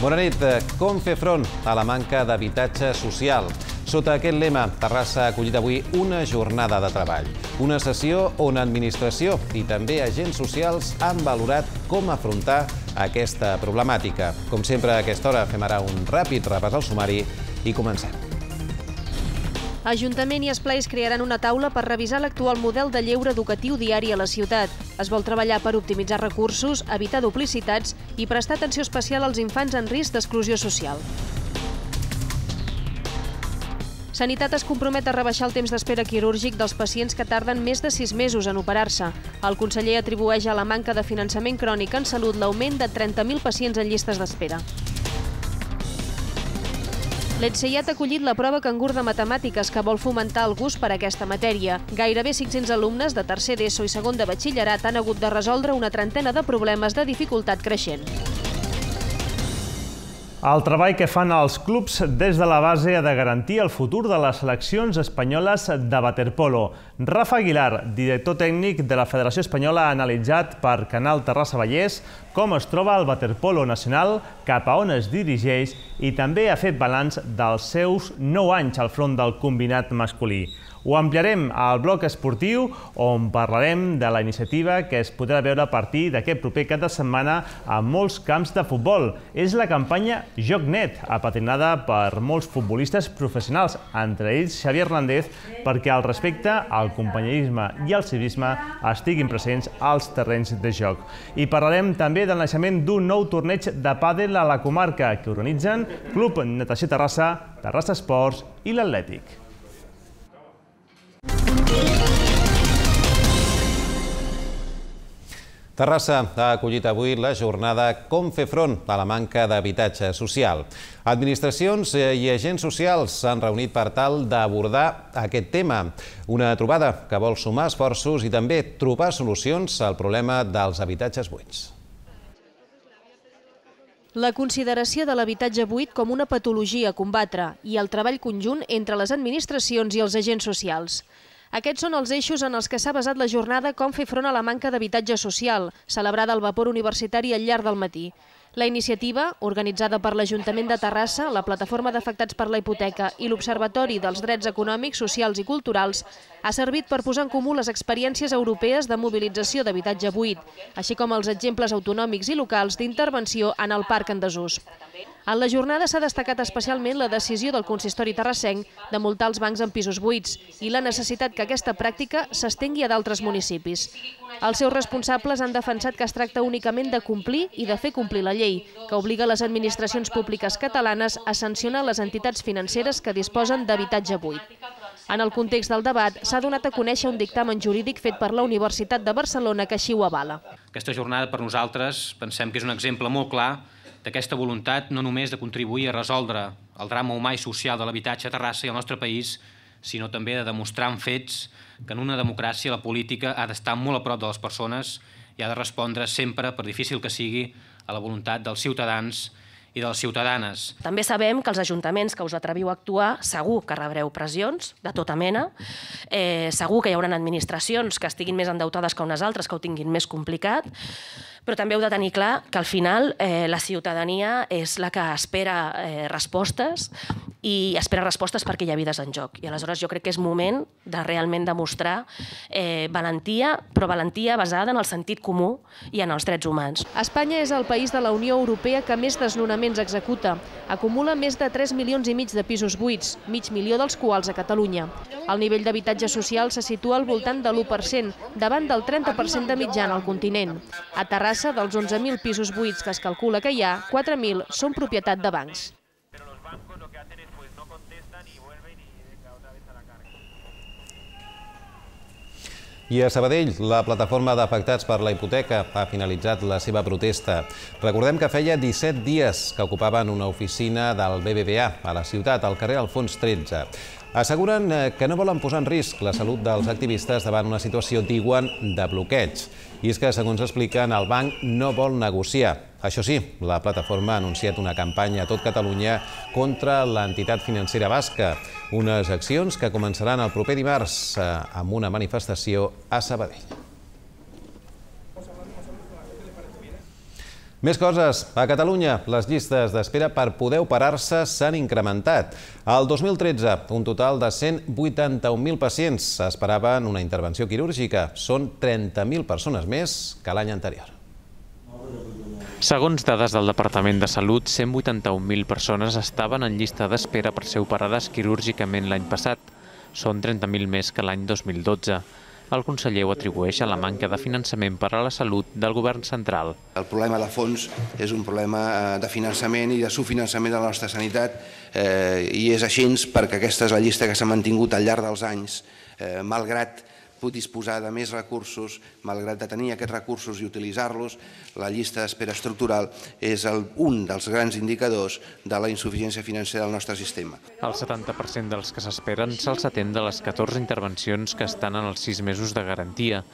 Bona nit. Com fer front a la manca d'habitatge social? Sota aquest lema, Terrassa ha acollit avui una jornada de treball. Una sessió on administració i també agents socials han valorat com afrontar aquesta problemàtica. Com sempre, a aquesta hora fem ara un ràpid repàs al sumari i comencem. Ajuntament i esplais crearan una taula per revisar l'actual model de lleure educatiu diari a la ciutat. Es vol treballar per optimitzar recursos, evitar duplicitats i prestar atenció especial als infants en risc d'exclusió social. Sanitat es compromet a rebaixar el temps d'espera quirúrgic dels pacients que tarden més de 6 mesos en operar-se. El conseller atribueix a la manca de finançament crònic en salut l'augment de 30.000 pacients en llistes d'espera. L'Etseiat ha acollit la prova Cangur de Matemàtiques que vol fomentar el gust per aquesta matèria. Gairebé 500 alumnes de tercer d'ESO i segon de batxillerat han hagut de resoldre una trentena de problemes de dificultat creixent. El treball que fan els clubs des de la base ha de garantir el futur de les seleccions espanyoles de waterpolo. Rafa Aguilar, director tècnic de la Federació Espanyola, ha analitzat per Canal Terrassa Vallès com es troba el waterpolo nacional, cap a on es dirigeix i també ha fet balanç dels seus 9 anys al front del combinat masculí. Ho ampliarem al bloc esportiu, on parlarem de la iniciativa que es podrà veure a partir d'aquest proper cap de setmana a molts camps de futbol. És la campanya Joc Net, apadrinada per molts futbolistes professionals, entre ells Xavi Hernández, perquè al respecte, el companyerisme i el civisme estiguin presents als terrenys de joc. I parlarem també del naixement d'un nou torneig de pàdel a la comarca que organitzen Club Natació Terrassa, Terrassa Esports i l'Atlètic. Terrassa ha acollit avui la jornada Com fer front a la manca d'habitatge social. Administracions i agents socials s'han reunit per tal d'abordar aquest tema. Una trobada que vol sumar esforços i també trobar solucions al problema dels habitatges buits. La consideració de l'habitatge buit com una patologia a combatre i el treball conjunt entre les administracions i els agents socials. Aquests són els eixos en els que s'ha basat la jornada Com fer front a la manca d'habitatge social, celebrada al Vapor Universitari al llarg del matí. La iniciativa, organitzada per l'Ajuntament de Terrassa, la Plataforma d'Afectats per la Hipoteca i l'Observatori dels Drets Econòmics, Socials i Culturals, ha servit per posar en comú les experiències europees de mobilització d'habitatge buit, així com els exemples autonòmics i locals d'intervenció en el parc en desús. En la jornada s'ha destacat especialment la decisió del consistori terrassenc de multar els bancs en pisos buits i la necessitat que aquesta pràctica s'estengui a d'altres municipis. Els seus responsables han defensat que es tracta únicament de complir i de fer complir la llei, que obliga les administracions públiques catalanes a sancionar les entitats financeres que disposen d'habitatge buit. En el context del debat, s'ha donat a conèixer un dictamen jurídic fet per la Universitat de Barcelona que així ho avala. Aquesta jornada per nosaltres pensem que és un exemple molt clar d'aquesta voluntat no només de contribuir a resoldre el drama humà i social de l'habitatge a Terrassa i al nostre país, sinó també de demostrar amb fets que en una democràcia la política ha d'estar molt a prop de les persones i ha de respondre sempre, per difícil que sigui, a la voluntat dels ciutadans i de les ciutadanes. També sabem que els ajuntaments que us atreviu a actuar segur que rebreu pressions de tota mena, segur que hi haurà administracions que estiguin més endeutades que unes altres, que ho tinguin més complicat, però també heu de tenir clar que al final la ciutadania és la que espera respostes i espera respostes perquè hi ha vides en joc. I aleshores jo crec que és moment de realment demostrar valentia, però valentia basada en el sentit comú i en els drets humans. Espanya és el país de la Unió Europea que més desnonaments executa. Acumula més de 3,5 milions de pisos buits, mig milió dels quals a Catalunya. El nivell d'habitatge social se situa al voltant de l'1%, davant del 30% de mitjana al continent. A Terrassa, dels 11.000 pisos buits que es calcula que hi ha, 4.000 són propietat de bancs. I a Sabadell, la Plataforma d'Afectats per la Hipoteca ha finalitzat la seva protesta. Recordem que feia 17 dies que ocupaven una oficina del BBVA a la ciutat, al carrer Alfons 13. Asseguren que no volen posar en risc la salut dels activistes davant una situació, diuen, de bloqueig. I és que, segons expliquen, el banc no vol negociar. Això sí, la plataforma ha anunciat una campanya a tot Catalunya contra l'entitat financera basca. Unes accions que començaran el proper dimarts amb una manifestació a Sabadell. Més coses. A Catalunya, les llistes d'espera per poder operar-se s'han incrementat. Al 2013, un total de 181.000 pacients esperaven una intervenció quirúrgica. Són 30.000 persones més que l'any anterior. Segons dades del Departament de Salut, 181.000 persones estaven en llista d'espera per ser operades quirúrgicament l'any passat. Són 30.000 més que l'any 2012. El conseller ho atribueix a la manca de finançament per a la salut del govern central. El problema de fons és un problema de finançament i de subfinançament de la nostra sanitat i és així perquè aquesta és la llista que s'ha mantingut al llarg dels anys, malgrat disposar de més recursos, malgrat de tenir aquests recursos i utilitzar-los, la llista d'espera estructural és un dels grans indicadors de la insuficiència financera del nostre sistema. El 70% dels que s'esperen se'ls atén de les 14 intervencions que estan en els 6 mesos de garantia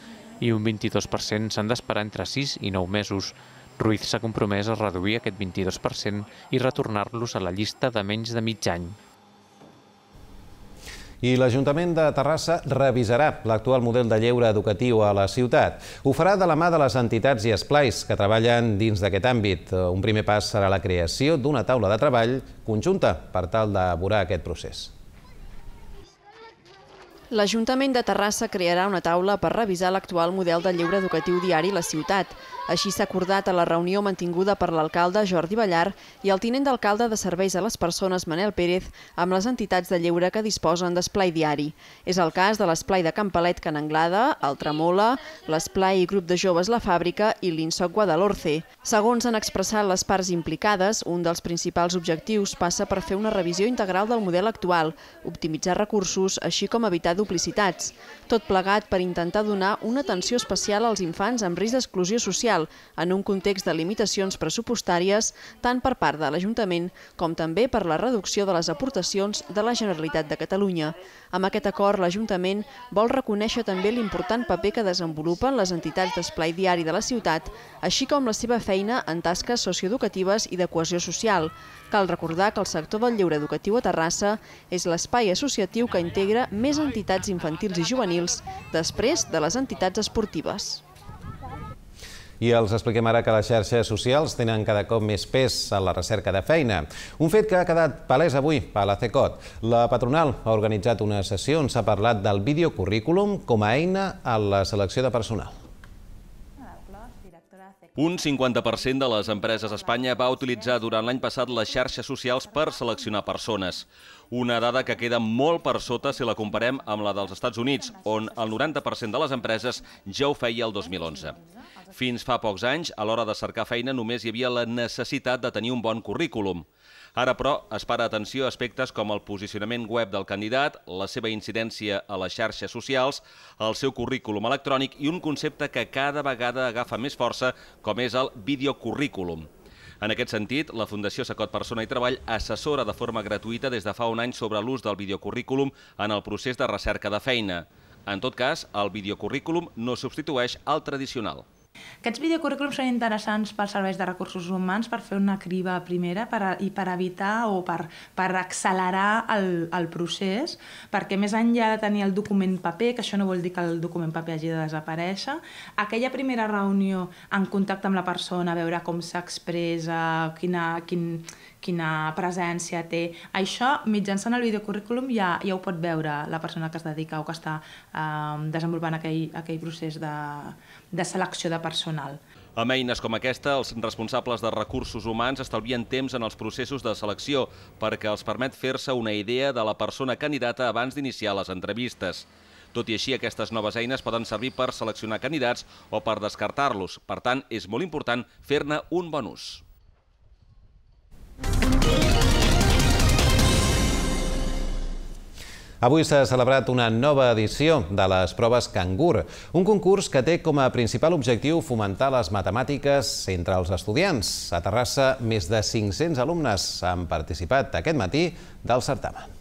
i un 22% s'han d'esperar entre 6 i 9 mesos. Ruiz s'ha compromès a reduir aquest 22% i retornar-los a la llista de menys de mig any. I l'Ajuntament de Terrassa revisarà l'actual model de lleure educatiu a la ciutat. Ho farà de la mà de les entitats i esplais que treballen dins d'aquest àmbit. Un primer pas serà la creació d'una taula de treball conjunta per tal d'elaborar aquest procés. L'Ajuntament de Terrassa crearà una taula per revisar l'actual model de lleure educatiu diari a la ciutat. Així s'ha acordat a la reunió mantinguda per l'alcalde Jordi Ballar i el tinent d'alcalde de Serveis a les Persones Manel Pérez amb les entitats de lleure que disposen d'esplai diari. És el cas de l'esplai de Campalet Can Anglada, el Tremola, l'esplai i grup de joves La Fàbrica i l'Insoc Guadalhorce. Segons han expressat les parts implicades, un dels principals objectius passa per fer una revisió integral del model actual, optimitzar recursos, així com evitar duplicitats. Tot plegat per intentar donar una atenció especial als infants amb risc d'exclusió social en un context de limitacions pressupostàries tant per part de l'Ajuntament com també per la reducció de les aportacions de la Generalitat de Catalunya. Amb aquest acord, l'Ajuntament vol reconèixer també l'important paper que desenvolupen les entitats d'esplai diari de la ciutat, així com la seva feina en tasques socioeducatives i de cohesió social. Cal recordar que el sector del lleure educatiu a Terrassa és l'espai associatiu que integra més entitats infantils i juvenils després de les entitats esportives. I els expliquem ara que les xarxes socials tenen cada cop més pes en la recerca de feina. Un fet que ha quedat palès avui a la CECOT. La patronal ha organitzat una sessió on s'ha parlat del videocurrículum com a eina a la selecció de personal. Un 50% de les empreses a Espanya va utilitzar durant l'any passat les xarxes socials per seleccionar persones. Una dada que queda molt per sota si la comparem amb la dels Estats Units, on el 90% de les empreses ja ho feia el 2011. Fins fa pocs anys, a l'hora de cercar feina, només hi havia la necessitat de tenir un bon currículum. Ara, però, es para atenció a aspectes com el posicionament web del candidat, la seva incidència a les xarxes socials, el seu currículum electrònic i un concepte que cada vegada agafa més força, com és el videocurrículum. En aquest sentit, la Fundació CECOT Persona i Treball assessora de forma gratuïta des de fa un any sobre l'ús del videocurrículum en el procés de recerca de feina. En tot cas, el videocurrículum no substitueix al tradicional. Aquests videocurrículums són interessants pels serveis de recursos humans per fer una criba primera i per evitar o per accelerar el procés, perquè més enllà de tenir el document paper, que això no vol dir que el document paper hagi de desaparèixer, aquella primera reunió en contacte amb la persona, veure com s'expressa, quina presència té, això mitjançant el videocurrículum ja ho pot veure la persona que es dedica o que està desenvolupant aquell procés de selecció de personal. Amb eines com aquesta, els responsables de recursos humans estalvien temps en els processos de selecció perquè els permet fer-se una idea de la persona candidata abans d'iniciar les entrevistes. Tot i així, aquestes noves eines poden servir per seleccionar candidats o per descartar-los. Per tant, és molt important fer-ne un bon ús. Avui s'ha celebrat una nova edició de les proves Cangur, un concurs que té com a principal objectiu fomentar les matemàtiques entre els estudiants. A Terrassa, més de 500 alumnes han participat aquest matí del certamen.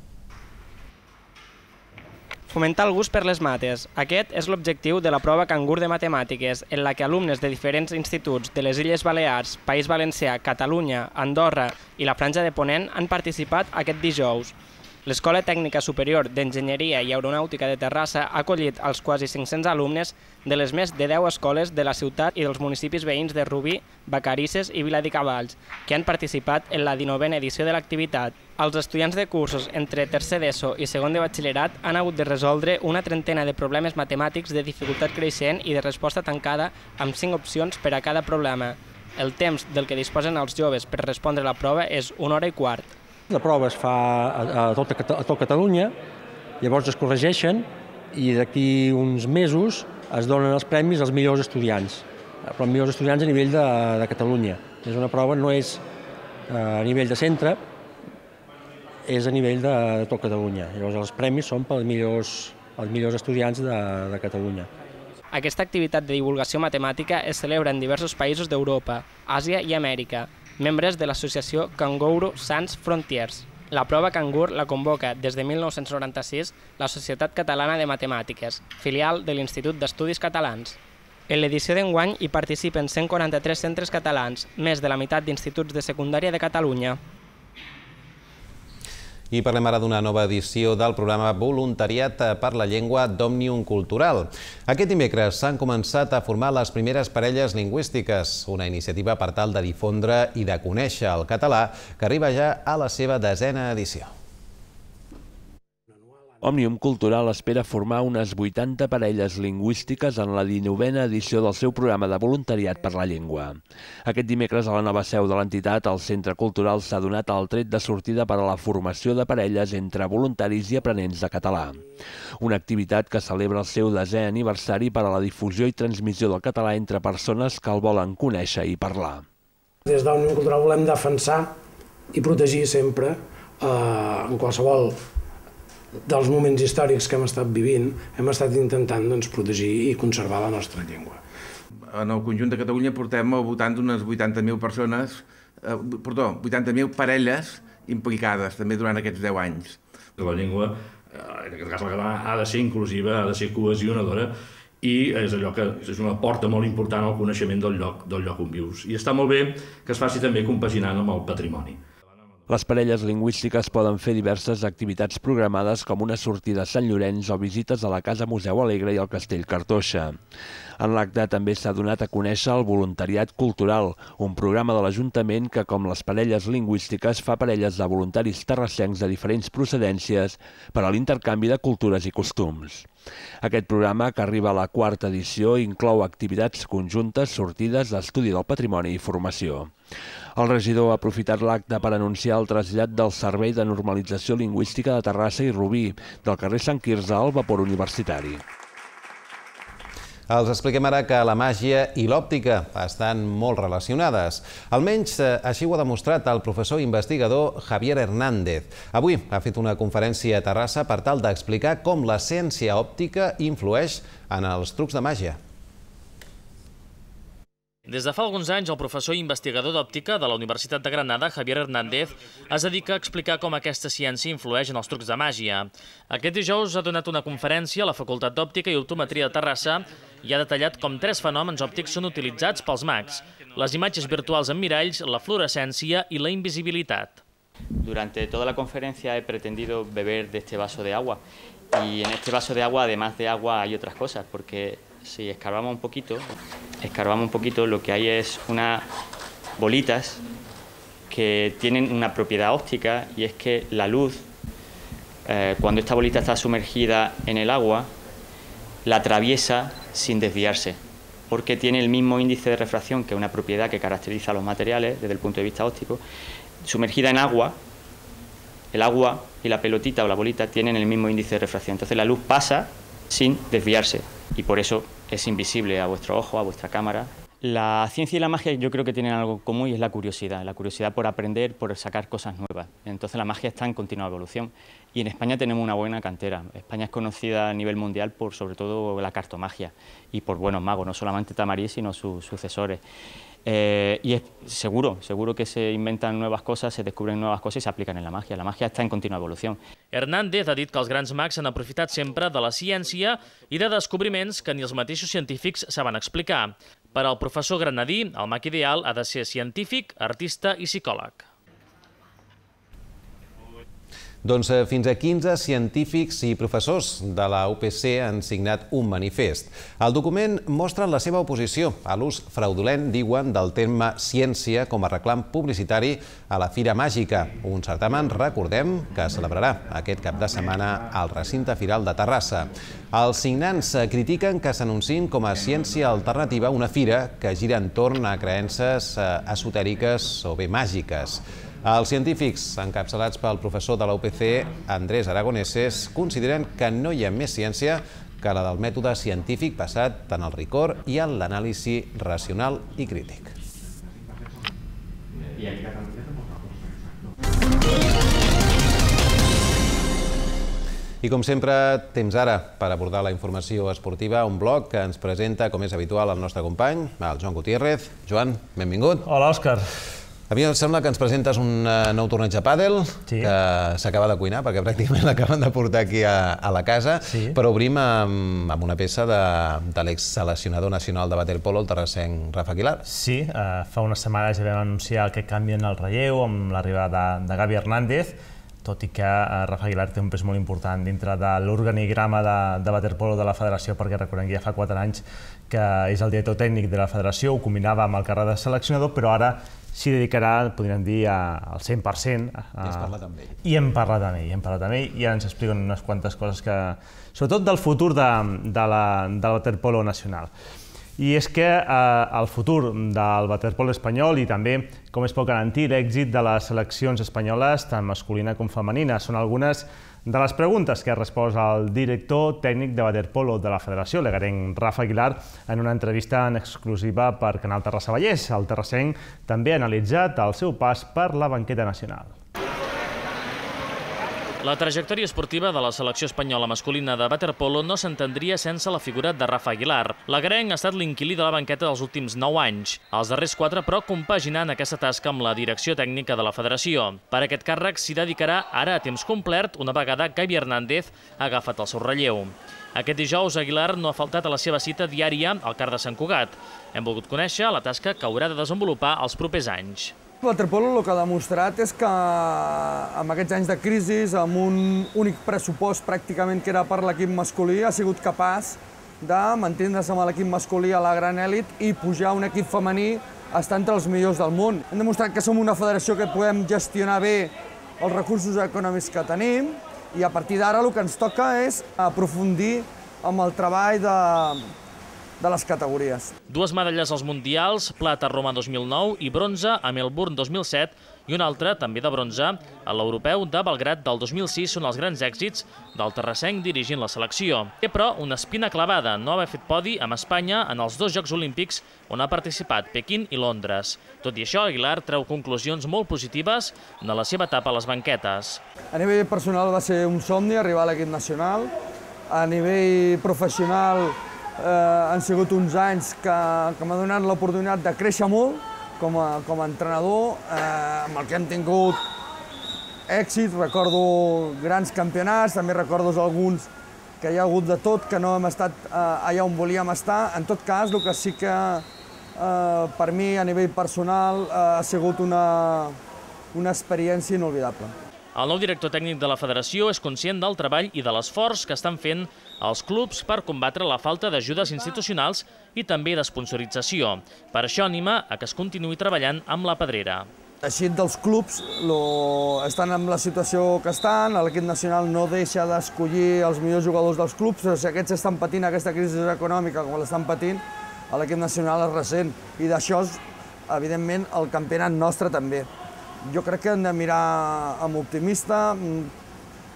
Fomentar el gust per les mates. Aquest és l'objectiu de la prova Cangur de Matemàtiques, en la que alumnes de diferents instituts de les Illes Balears, País Valencià, Catalunya, Andorra i la Franja de Ponent han participat aquest dijous. L'Escola Tècnica Superior d'Enginyeria i Aeronàutica de Terrassa ha acollit els quasi 500 alumnes de les més de 10 escoles de la ciutat i dels municipis veïns de Rubí, Vacarisses i Viladecavalls, que han participat en la 19a edició de l'activitat. Els estudiants de cursos entre tercer d'ESO i segon de batxillerat han hagut de resoldre una trentena de problemes matemàtics de dificultat creixent i de resposta tancada amb 5 opcions per a cada problema. El temps del que disposen els joves per respondre la prova és 1 hora i quart. La prova es fa a tot Catalunya, llavors es corregeixen i d'aquí uns mesos es donen els premis als millors estudiants, però els millors estudiants a nivell de Catalunya. És una prova, no és a nivell de centre, és a nivell de tot Catalunya. Llavors els premis són pels millors estudiants de Catalunya. Aquesta activitat de divulgació matemàtica es celebra en diversos països d'Europa, Àsia i Amèrica, membres de l'associació Kangourou Sans Frontiers. La prova Cangur la convoca des de 1996 la Societat Catalana de Matemàtiques, filial de l'Institut d'Estudis Catalans. En l'edició d'enguany hi participen 143 centres catalans, més de la meitat d'instituts de secundària de Catalunya. I parlem ara d'una nova edició del programa Voluntariat per la Llengua d'Òmnium Cultural. Aquest dimecres s'han començat a formar les primeres parelles lingüístiques, una iniciativa per tal de difondre i de conèixer el català que arriba ja a la seva 10a edició. Òmnium Cultural espera formar unes 80 parelles lingüístiques en la 19a edició del seu programa de voluntariat per la llengua. Aquest dimecres a la nova seu de l'entitat, el Centre Cultural s'ha donat el tret de sortida per a la formació de parelles entre voluntaris i aprenents de català. Una activitat que celebra el seu 10è aniversari per a la difusió i transmissió del català entre persones que el volen conèixer i parlar. Des d'Òmnium Cultural volem defensar i protegir sempre, en qualsevol dels moments històrics que hem estat vivint, hem estat intentant protegir i conservar la nostra llengua. En el conjunt de Catalunya portem al voltant d'unes 80.000 persones, 80.000 parelles implicades també durant aquests 10 anys. La llengua, en aquest cas la catalana, ha de ser inclusiva, ha de ser cohesionadora i és allò que és una porta molt important al coneixement del lloc on vius. I està molt bé que es faci també compaginant amb el patrimoni. Les parelles lingüístiques poden fer diverses activitats programades com una sortida a Sant Llorenç o visites a la Casa Museu Alegre i al Castell Cartoixa. En l'acte també s'ha donat a conèixer el Voluntariat Cultural, un programa de l'Ajuntament que, com les parelles lingüístiques, fa parelles de voluntaris terrassencs de diferents procedències per a l'intercanvi de cultures i costums. Aquest programa, que arriba a la 4a edició, inclou activitats conjuntes, sortides, estudi del patrimoni i formació. El regidor ha aprofitat l'acte per anunciar el trasllat del Servei de Normalització Lingüística de Terrassa i Rubí, del carrer Sant Quirze al vapor universitari. Els expliquem ara que la màgia i l'òptica estan molt relacionades. Almenys així ho ha demostrat el professor investigador Javier Hernández. Avui ha fet una conferència a Terrassa per tal d'explicar com la ciència òptica influeix en els trucs de màgia. Des de fa alguns anys, el professor i investigador d'òptica de la Universitat de Granada, Javier Hernández, es dedica a explicar com aquesta ciència influeix en els trucs de màgia. Aquest dijous ha donat una conferència a la Facultat d'Òptica i Optometria de Terrassa i ha detallat com 3 fenòmens òptics són utilitzats pels mags: les imatges virtuals en miralls, la fluorescència i la invisibilitat. Durante toda la conferencia he pretendido beber de este vaso de agua y en este vaso de agua, además de agua, hay otras cosas, porque si escarbamos un poquito, lo que hay es unas bolitas que tienen una propiedad óptica y es que la luz, cuando esta bolita está sumergida en el agua, la atraviesa sin desviarse, porque tiene el mismo índice de refracción, que es una propiedad que caracteriza a los materiales desde el punto de vista óptico. Sumergida en agua, el agua y la pelotita o la bolita tienen el mismo índice de refracción, entonces la luz pasa sin desviarse y por eso es invisible a vuestro ojo, a vuestra cámara. La ciencia y la magia yo creo que tienen algo común y es la curiosidad por aprender, por sacar cosas nuevas. Entonces la magia está en continua evolución y en España tenemos una buena cantera. España es conocida a nivel mundial por sobre todo la cartomagia y por buenos magos, no solamente Tamarí sino sus sucesores. Y es seguro que se inventan nuevas cosas, se descubren nuevas cosas y se aplican en la magia. La magia está en continua evolució. Hernández ha dit que els grans mags s'han aprofitat sempre de la ciència i de descobriments que ni els mateixos científics saben explicar. Per al professor granadí, el mag ideal ha de ser científic, artista i psicòleg. Doncs fins a 15 científics i professors de la UPC han signat un manifest. El document mostra la seva oposició a l'ús fraudulent, diuen, del terme ciència com a reclam publicitari a la Fira Màgica, un certamen, recordem, que es celebrarà aquest cap de setmana al recinte firal de Terrassa. Els signants critiquen que s'anunciïn com a ciència alternativa una fira que gira entorn a creences esotèriques o bé màgiques. Els científics, encapçalats pel professor de la UPC, Andrés Aragoneses, consideren que no hi ha més ciència que la del mètode científic basat en el rigor i en l'anàlisi racional i crític. I com sempre, temps ara per abordar la informació esportiva, un bloc que ens presenta, com és habitual, el nostre company, el Joan Gutiérrez. Joan, benvingut. Hola, Òscar. A mi em sembla que ens presentes un nou torneig de pàdel que s'acaba de cuinar, perquè pràcticament l'acaben de portar aquí a la casa, però obrim amb una peça de l'ex-seleccionador nacional de waterpolo, el terrassenc Rafa Aguilar. Sí, fa unes setmanes ja vam anunciar que canvien el relleu amb l'arribada de Gavi Hernández, tot i que Rafa Aguilar té un pes molt important dintre de l'organigrama de waterpolo de la federació, perquè recordem que ja fa 4 anys que és el director tècnic de la federació, ho combinava amb el càrrec de seleccionador, però ara s'hi dedicarà, podríem dir, al 100%. I has parlat amb ell. I hem parlat amb ell, i ara ens expliquen unes quantes coses que, sobretot del futur del waterpolo nacional. I és que el futur del waterpolo espanyol i també com es pot garantir l'èxit de les seleccions espanyoles, tant masculina com femenina, són algunes de les preguntes que ha respost el director tècnic de waterpolo de la federació, l'egarenc Rafa Aguilar, en una entrevista en exclusiva per Canal Terrassa Vallès. El terrassenc també ha analitzat el seu pas per la banqueta nacional. La trajectòria esportiva de la selecció espanyola masculina de waterpolo no s'entendria sense la figura de Rafa Aguilar. L'agarenc ha estat l'inquilí de la banqueta dels últims 9 anys. Els darrers 4, però, compaginant aquesta tasca amb la direcció tècnica de la federació. Per aquest càrrec s'hi dedicarà ara a temps complet una vegada Gavi Hernández ha agafat el seu relleu. Aquest dijous, Aguilar no ha faltat a la seva cita diària al CAR de Sant Cugat. Hem volgut conèixer la tasca que haurà de desenvolupar els propers anys. El waterpolo el que ha demostrat és que amb aquests anys de crisi, amb un únic pressupost pràcticament que era per l'equip masculí, ha sigut capaç de mantindre's amb l'equip masculí a la gran èlit i pujar a un equip femení a estar entre els millors del món. Hem demostrat que som una federació que podem gestionar bé els recursos econòmics que tenim i a partir d'ara el que ens toca és aprofundir amb el treball de les categories. 2 medalles als Mundials, plata a Roma 2009 i bronze a Melbourne 2007 i una altra, també de bronze, a l'Europeu de Belgrad del 2006 són els grans èxits del terrassenc dirigint la selecció. Té, però, una espina clavada, no haver fet podi amb Espanya en els 2 Jocs Olímpics on ha participat, Pequín i Londres. Tot i això, Aguilar treu conclusions molt positives de la seva etapa a les banquetes. A nivell personal va ser un somni arribar a l'equip nacional. A nivell professional han sigut uns anys que m'ha donat l'oportunitat de créixer molt com a entrenador, amb el que hem tingut èxits. Recordo grans campionats, també recordo alguns que hi ha hagut de tot, que no hem estat allà on volíem estar. En tot cas, el que sí que per mi a nivell personal ha sigut una experiència inolvidable. El nou director tècnic de la federació és conscient del treball i de l'esforç que estan fent els clubs per combatre la falta d'ajudes institucionals i també d'esponsorització. Per això anima a que es continuï treballant amb la pedrera. Així dels clubs estan en la situació que estan, l'equip nacional no deixa d'escollir els millors jugadors dels clubs, però si aquests estan patint aquesta crisi econòmica com l'estan patint, l'equip nacional es ressent. I d'això, evidentment, el campionat nostre també. Jo crec que hem de mirar amb optimista,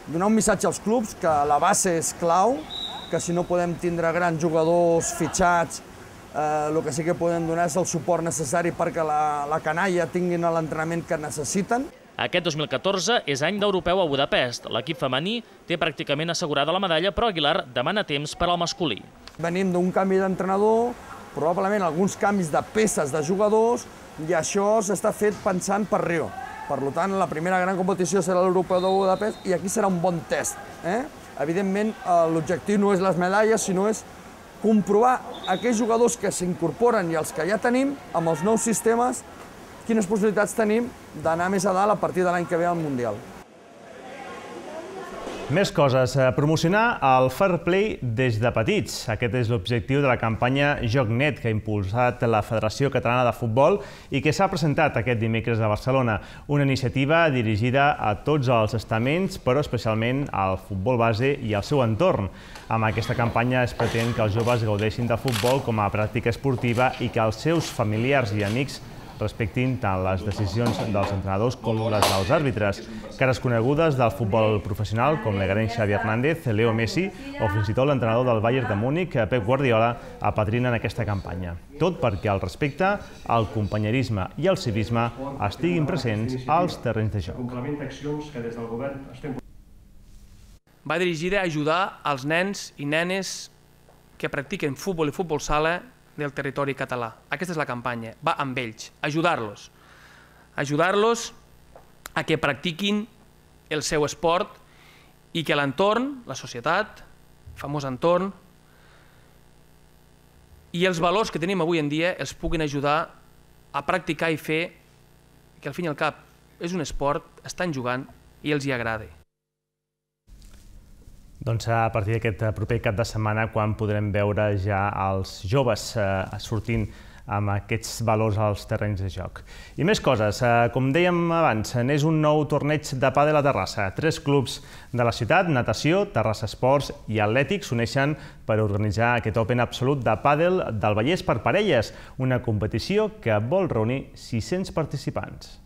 donar un missatge als clubs que la base és clau, que si no podem tindre grans jugadors fitxats, el que sí que podem donar és el suport necessari perquè la canalla tinguin l'entrenament que necessiten. Aquest 2014 és any d'europeu a Budapest. L'equip femení té pràcticament assegurada la medalla, però Aguilar demana temps per al masculí. Venim d'un canvi d'entrenador, probablement alguns canvis de peces de jugadors, i això s'està fet pensant per Rio. Per tant, la primera gran competició serà l'Europeu de Budapest i aquí serà un bon test. Evidentment, l'objectiu no és les medalles, sinó és comprovar aquells jugadors que s'incorporen i els que ja tenim, amb els nous sistemes, quines possibilitats tenim d'anar més a dalt a partir de l'any que ve al Mundial. Més coses. Promocionar el fair play des de petits. Aquest és l'objectiu de la campanya Joc Net que ha impulsat la Federació Catalana de Futbol i que s'ha presentat aquest dimecres a Barcelona. Una iniciativa dirigida a tots els estaments, però especialment al futbol base i al seu entorn. Amb aquesta campanya es pretén que els joves gaudeixin del futbol com a pràctica esportiva i que els seus familiars i amics respectin tant les decisions dels entrenadors com les dels àrbitres. Cares conegudes del futbol professional, com l'egrenc Xavi Hernández, Leo Messi o fins i tot l'entrenador del Bayern de Múnich, Pep Guardiola, apadrinen aquesta campanya. Tot perquè el respecte, el companyerisme i el civisme estiguin presents als terrenys de joc. Va dirigida a ajudar els nens i nenes que practiquen futbol i futbol sala del territori català. Aquesta és la campanya, va amb ells, ajudar-los. Ajudar-los a que practiquin el seu esport i que l'entorn, la societat, el famós entorn, i els valors que tenim avui en dia els puguin ajudar a practicar i fer que al fin i al cap és un esport, estan jugant i els hi agrada. Doncs a partir d'aquest proper cap de setmana quan podrem veure ja els joves sortint amb aquests valors als terrenys de joc. I més coses, com dèiem abans, n'és un nou torneig de pàdel a Terrassa. 3 clubs de la ciutat, Natació, Terrassa Esports i Atlètic, s'uneixen per organitzar aquest Open Absolut de pàdel del Vallès per parelles, una competició que vol reunir 600 participants.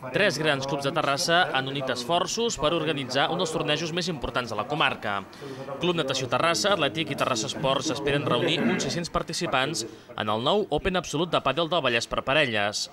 3 grans clubs de Terrassa han unit esforços per organitzar un dels tornejos més importants de la comarca. Club Natació Terrassa, Atlètic i Terrassa Esports esperen reunir uns 600 participants en el nou Open Absolut de pàdel del Vallès per parelles.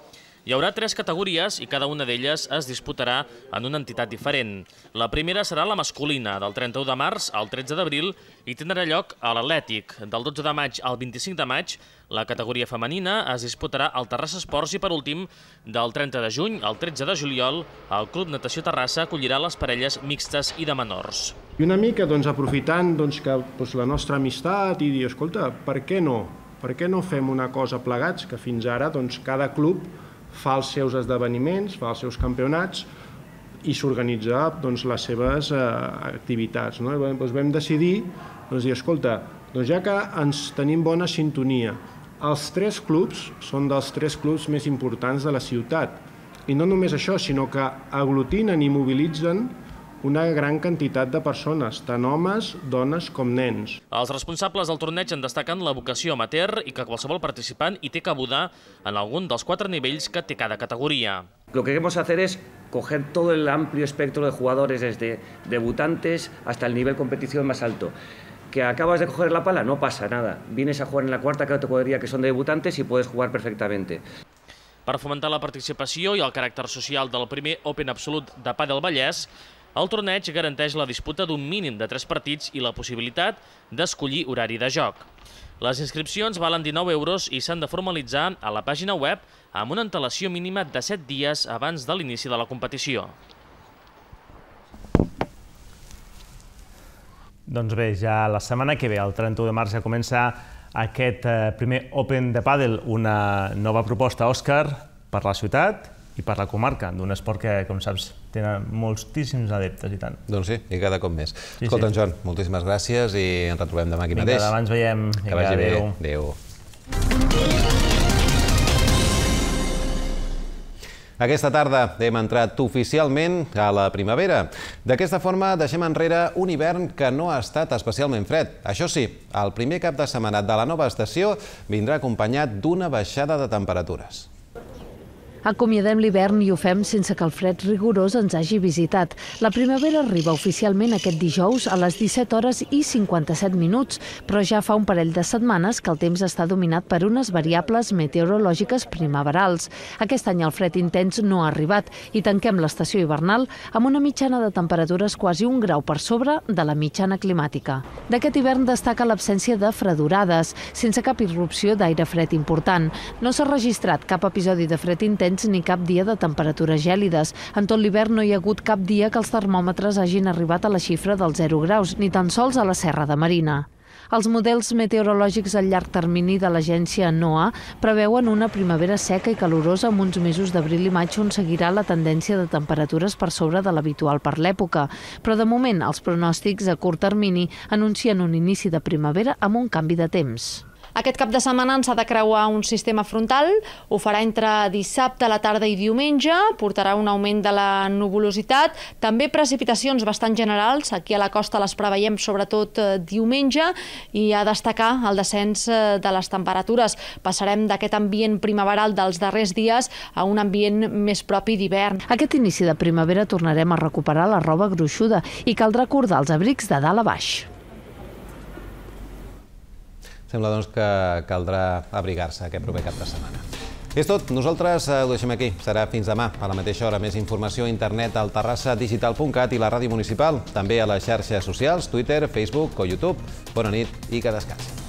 Hi haurà 3 categories i cada una d'elles es disputarà en una entitat diferent. La primera serà la masculina, del 31 de març al 13 d'abril, i tindrà lloc a l'Atlètic. Del 12 de maig al 25 de maig, la categoria femenina es disputarà al Terrassa Esports i, per últim, del 30 de juny al 13 de juliol, el Club Natació Terrassa acollirà les parelles mixtes i de menors. I una mica aprofitant que la nostra amistat i dir, escolta, per què no? Per què no fem una cosa plegats? Que fins ara cada club fa els seus esdeveniments, fa els seus campionats i s'organitza les seves activitats. Vam decidir dir, escolta, ja que ens tenim bona sintonia, els 3 clubs són dels 3 clubs més importants de la ciutat. I no només això, sinó que aglutinen i mobilitzen una gran quantitat de persones, tant homes, dones com nens. Els responsables del torneig en destaquen la vocació amateur i que qualsevol participant hi té cabuda en algun dels 4 nivells que té cada categoria. Lo que queremos hacer es coger todo el amplio espectro de jugadores, desde debutantes hasta el nivel competición más alto. ¿Que acabas de coger la pala? No pasa nada. Vienes a jugar en la 4ª categoría, que son de debutantes, y puedes jugar perfectamente. Per fomentar la participació i el caràcter social del primer Open Absolut de pàdel Vallès, el torneig garanteix la disputa d'un mínim de 3 partits i la possibilitat d'escollir horari de joc. Les inscripcions valen 19 € i s'han de formalitzar a la pàgina web amb una antelació mínima de 7 dies abans de l'inici de la competició. Doncs bé, ja la setmana que ve, el 31 de març, ja comença aquest primer Open de pàdel, una nova proposta, Òscar, per la ciutat i per la comarca, d'un esport que, com saps, tenen moltíssims adeptes i tant. Doncs sí, i cada cop més. Escolta, Joan, moltíssimes gràcies i ens retrobem demà aquí mateix. Vinga, demà ens veiem. Que vagi bé. Adéu. Aquesta tarda hem entrat oficialment a la primavera. D'aquesta forma deixem enrere un hivern que no ha estat especialment fred. Això sí, el primer cap de setmana de la nova estació vindrà acompanyat d'una baixada de temperatures. Acomiadem l'hivern i ho fem sense que el fred rigorós ens hagi visitat. La primavera arriba oficialment aquest dijous a les 17:57, però ja fa un parell de setmanes que el temps està dominat per unes variables meteorològiques primaverals. Aquest any el fred intens no ha arribat i tanquem l'estació hivernal amb una mitjana de temperatures quasi 1 grau per sobre de la mitjana climàtica. D'aquest hivern destaca l'absència de fredorades, sense cap irrupció d'aire fred important. No s'ha registrat cap episodi de fred intens ni cap dia de temperatures gèlides. En tot l'hivern no hi ha hagut cap dia que els termòmetres hagin arribat a la xifra dels 0 graus, ni tan sols a la Serra de Marina. Els models meteorològics a llarg termini de l'agència NOAA preveuen una primavera seca i calorosa amb uns mesos d'abril i maig on seguirà la tendència de temperatures per sobre de l'habitual per l'època. Però de moment els pronòstics a curt termini anuncien un inici de primavera amb un canvi de temps. Aquest cap de setmana ens ha de creuar un sistema frontal, ho farà entre dissabte a la tarda i diumenge, portarà un augment de la nuvolositat, també precipitacions bastant generals, aquí a la costa les preveiem sobretot diumenge, i a destacar el descens de les temperatures. Passarem d'aquest ambient primaveral dels darrers dies a un ambient més propi d'hivern. Aquest inici de primavera tornarem a recuperar la roba gruixuda i caldrà acordar els abrics de dalt a baix. Sembla doncs que caldrà abrigar-se aquest proper cap de setmana. És tot, nosaltres ho deixem aquí. Serà fins demà, a la mateixa hora. Més informació a internet al terrassadigital.cat i la ràdio municipal. També a les xarxes socials, Twitter, Facebook o YouTube. Bona nit i que descansin.